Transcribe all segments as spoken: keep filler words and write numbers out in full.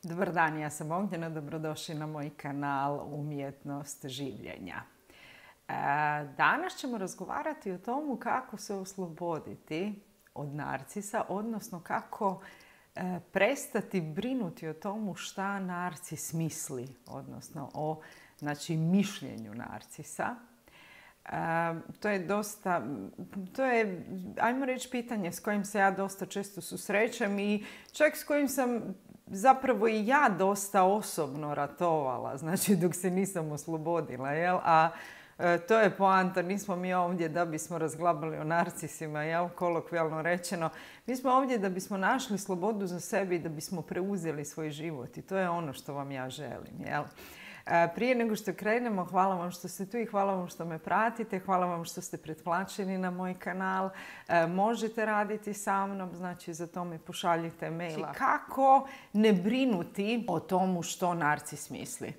Dobar dan, ja sam Ognjena, dobrodošli na moj kanal Umjetnost življenja. Danas ćemo razgovarati o tomu kako se osloboditi od narcisa, odnosno kako prestati brinuti o tomu šta narcis misli, odnosno o znači, mišljenju narcisa. To je dosta, to je, ajmo reći, pitanje s kojim se ja dosta često susrećem i čak s kojim sam zapravo i ja dosta osobno ratovala, znači dok se nisam oslobodila, jel? A e, to je poanta, nismo mi ovdje da bismo razglabali o narcisima, jel? Kolokvijalno rečeno. Mi smo ovdje da bismo našli slobodu za sebe i da bismo preuzeli svoj život i to je ono što vam ja želim, jel? Prije nego što krenemo, hvala vam što ste tu i hvala vam što me pratite, hvala vam što ste pretplaćeni na moj kanal. Možete raditi sa mnom, znači za to mi pošaljite maila. Kako ne brinuti o tomu što narcis misli?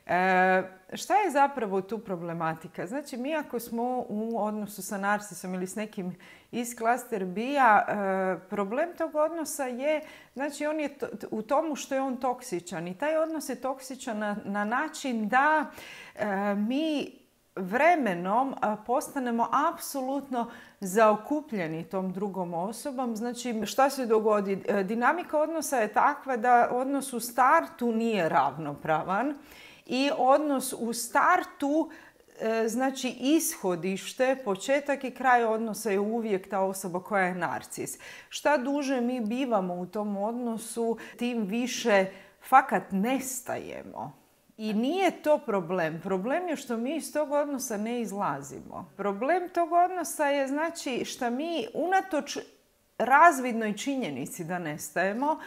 E, šta je zapravo tu problematika? Znači, mi ako smo u odnosu sa narcisom ili s nekim iz klaster B-a, e, problem tog odnosa je, znači, on je to, u tomu što je on toksičan. I taj odnos je toksičan na, na način da e, mi vremenom postanemo apsolutno zaokupljeni tom drugom osobom. Znači, šta se dogodi? Dinamika odnosa je takva da odnos u startu nije ravnopravan. I odnos u startu, znači ishodište, početak i kraj odnosa je uvijek ta osoba koja je narcis. Šta duže mi bivamo u tom odnosu, tim više fakat nestajemo. I nije to problem. Problem je što mi iz tog odnosa ne izlazimo. Problem tog odnosa je znači što mi unatoč razvidnoj činjenici da nestajemo,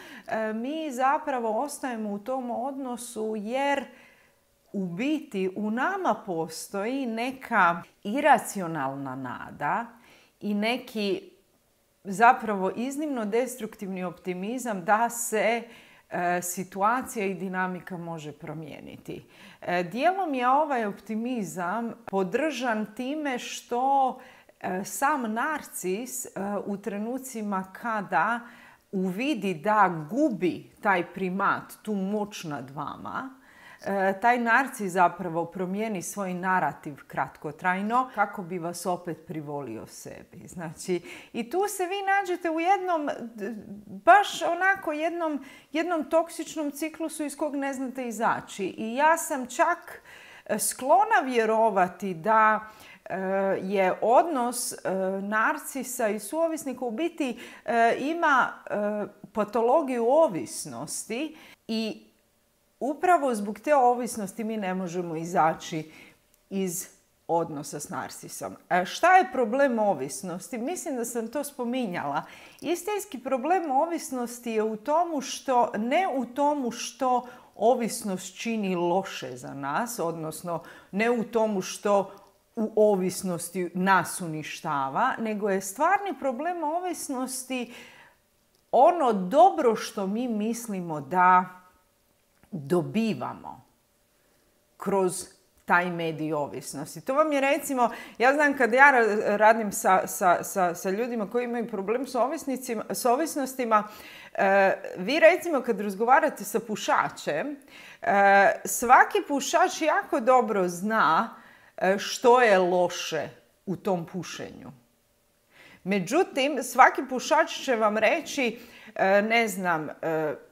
mi zapravo ostajemo u tom odnosu jer u biti u nama postoji neka iracionalna nada i neki zapravo iznimno destruktivni optimizam da se e, situacija i dinamika može promijeniti. E, dijelom je ovaj optimizam podržan time što e, sam narcis e, u trenucima kada uvidi da gubi taj primat, tu moć nad vama, taj narcis zapravo promijeni svoj narativ kratkotrajno kako bi vas opet privolio sebi. Znači, i tu se vi nađete u jednom, baš onako jednom, jednom toksičnom ciklusu iz kog ne znate izaći. I ja sam čak sklona vjerovati da je odnos narcisa i suovisnika u biti ima patologiju ovisnosti i upravo zbog te ovisnosti mi ne možemo izaći iz odnosa s narcisom. A šta je problem ovisnosti? Mislim da sam to spominjala. Istinski problem ovisnosti je u tomu što, ne u tomu što ovisnost čini loše za nas, odnosno ne u tomu što u ovisnosti nas uništava, nego je stvarni problem ovisnosti ono dobro što mi mislimo da dobivamo kroz taj medij ovisnosti. To vam je recimo, ja znam kad ja radim sa, sa, sa, sa ljudima koji imaju problem s, s ovisnostima, e, vi recimo kad razgovarate sa pušačem, e, svaki pušač jako dobro zna e, što je loše u tom pušenju. Međutim, svaki pušač će vam reći, ne znam,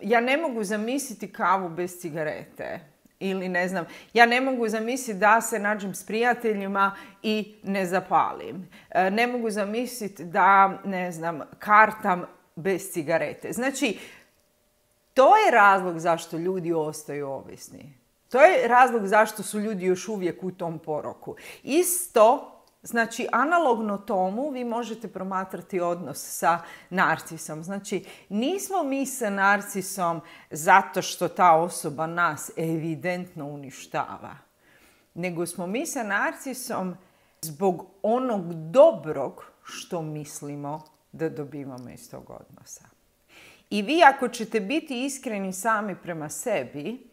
ja ne mogu zamisliti kavu bez cigarete. Ili ne znam, ja ne mogu zamisliti da se nađem s prijateljima i ne zapalim. Ne mogu zamisliti da, ne znam, kartam bez cigarete. Znači, to je razlog zašto ljudi ostaju ovisni. To je razlog zašto su ljudi još uvijek u tom poroku. Isto, znači, analogno tomu vi možete promatrati odnos sa narcisom. Znači, nismo mi sa narcisom zato što ta osoba nas evidentno uništava, nego smo mi sa narcisom zbog onog dobrog što mislimo da dobivamo iz tog odnosa. I vi ako ćete biti iskreni sami prema sebi,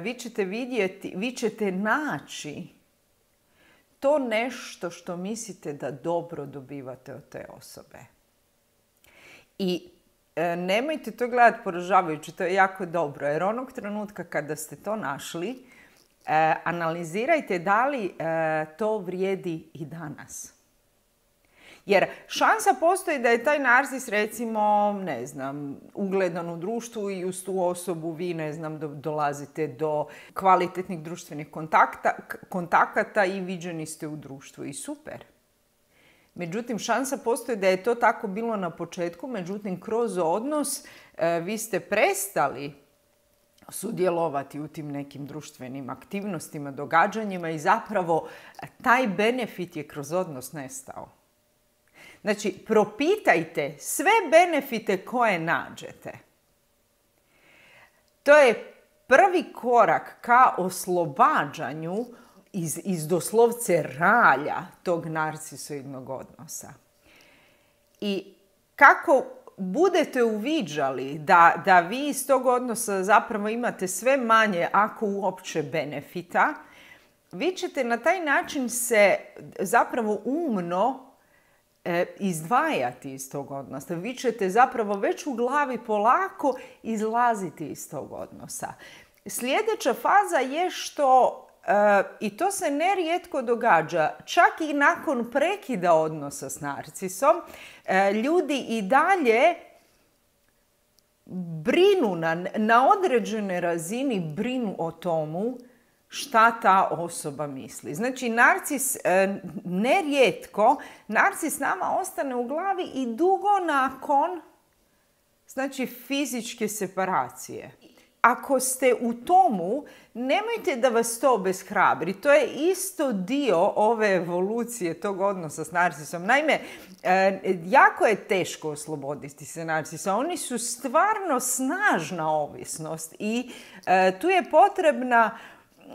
vi ćete vidjeti, vi ćete naći to nešto što mislite da dobro dobivate od te osobe. I e, nemojte to gledati poražavajuće, to je jako dobro. Jer onog trenutka kada ste to našli, e, analizirajte da li e, to vrijedi i danas. Jer šansa postoji da je taj narcis, recimo, ne znam, ugledan u društvu i uz tu osobu vi, ne znam, do, dolazite do kvalitetnih društvenih kontakta, kontakata i viđeni ste u društvu i super. Međutim, šansa postoji da je to tako bilo na početku, međutim, kroz odnos e, vi ste prestali sudjelovati u tim nekim društvenim aktivnostima, događanjima i zapravo taj benefit je kroz odnos nestao. Znači, propitajte sve benefite koje nađete. To je prvi korak ka oslobađanju iz, iz doslovce ralja tog narcisoidnog odnosa. I kako budete uviđali da, da vi iz tog odnosa zapravo imate sve manje, ako uopće, benefita, vi ćete na taj način se zapravo umno e, izdvajati iz tog odnosa. Vi ćete zapravo već u glavi polako izlaziti iz tog odnosa. Sljedeća faza je što, e, i to se nerijetko događa, čak i nakon prekida odnosa s narcisom, e, ljudi i dalje brinu na, na određenoj razini, brinu o tomu šta ta osoba misli. Znači, narcis, e, nerijetko, narcis nama ostane u glavi i dugo nakon, znači, fizičke separacije. Ako ste u tomu, nemojte da vas to obeshrabri. To je isto dio ove evolucije tog odnosa s narcisom. Naime, e, jako je teško osloboditi se narcisa. Oni su stvarno snažna ovisnost i e, tu je potrebna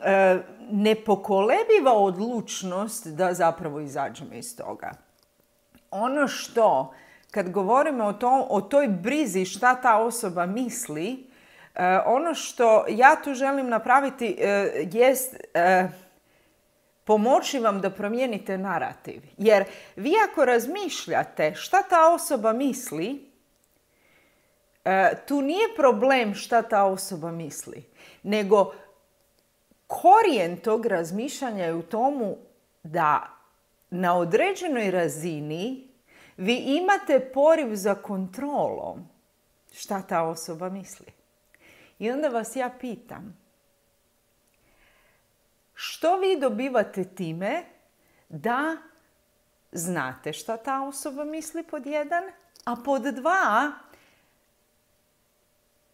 e, nepokolebiva odlučnost da zapravo izađemo iz toga. Ono što, kad govorimo o, to, o toj brizi šta ta osoba misli, Uh, ono što ja tu želim napraviti uh, jest uh, pomoći vam da promijenite narativ. Jer vi ako razmišljate šta ta osoba misli, uh, tu nije problem šta ta osoba misli, nego korijen tog razmišljanja je u tomu da na određenoj razini vi imate poriv za kontrolom šta ta osoba misli. I onda vas ja pitam, što vi dobivate time da znate šta ta osoba misli, pod jedan, a pod dva,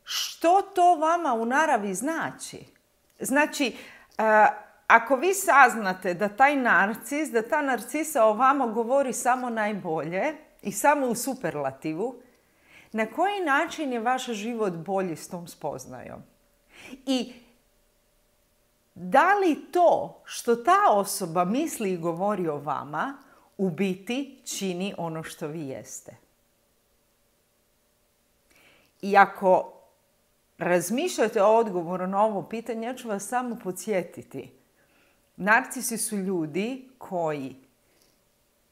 što to vama u naravi znači? Znači, ako vi saznate da taj narcis, da ta narcisa o vama govori samo najbolje i samo u superlativu, na koji način je vaš život bolji s tom spoznajom? I da li to što ta osoba misli i govori o vama u biti čini ono što vi jeste? I ako razmišljate o odgovoru na ovo pitanje, ja ću vas samo podsjetiti. Narcisi su ljudi koji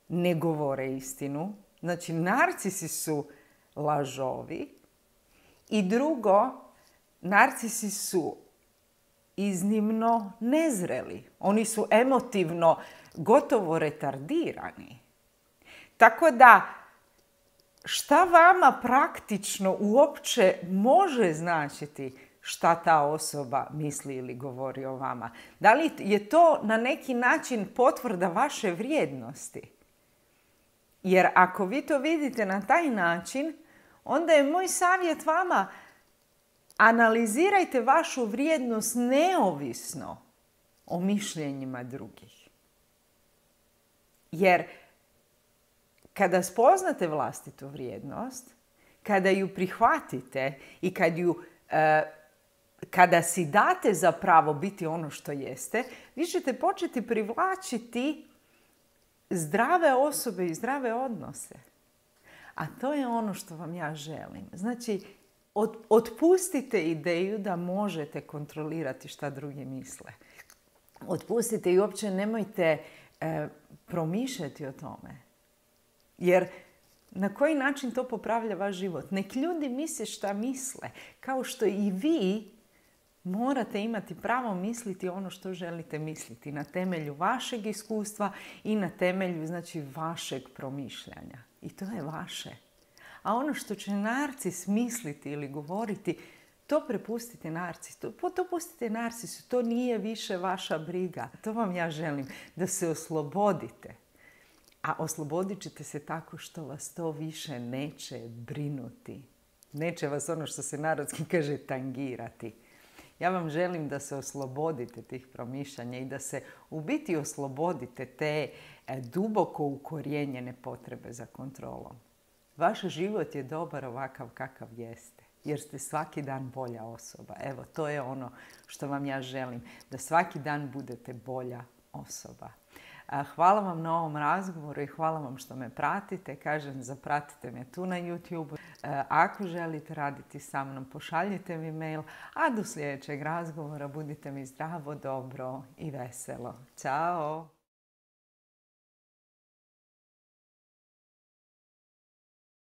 ne govore istinu. Znači, narcisi su lažovi. I drugo, narcisi su iznimno nezreli. Oni su emotivno gotovo retardirani. Tako da, šta vama praktično uopće može značiti šta ta osoba misli ili govori o vama? Da li je to na neki način potvrda vaše vrijednosti? Jer ako vi to vidite na taj način, onda je moj savjet vama, analizirajte vašu vrijednost neovisno o mišljenjima drugih. Jer kada spoznate vlastitu vrijednost, kada ju prihvatite i kad ju, e, kada si date za pravo biti ono što jeste, vi ćete početi privlačiti zdrave osobe i zdrave odnose. A to je ono što vam ja želim. Znači, od, otpustite ideju da možete kontrolirati šta drugi misle. Otpustite i uopće nemojte e, promišljati o tome. Jer Na koji način to popravlja vaš život? Nek ljudi misle šta misle. Kao što i vi morate imati pravo misliti ono što želite misliti na temelju vašeg iskustva i na temelju, znači, vašeg promišljanja. I to je vaše. A ono što će narcis misliti ili govoriti, to prepustite narcisu. To, to pustite narcisu. To nije više vaša briga. To vam ja želim. Da se oslobodite. A oslobodit ćete se tako što vas to više neće brinuti. Neće vas, ono što se narodski kaže, tangirati. Ja vam želim da se oslobodite tih promišljanja i da se u biti oslobodite te duboko ukorijenjene potrebe za kontrolom. Vaš život je dobar ovakav kakav jeste, jer ste svaki dan bolja osoba. Evo, to je ono što vam ja želim, da svaki dan budete bolja osoba. Hvala vam na ovom razgovoru i hvala vam što me pratite. Kažem, zapratite me tu na YouTube. Ako želite raditi sa mnom, pošaljite mi mail. A do sljedećeg razgovora budite mi zdravo, dobro i veselo. Ćao!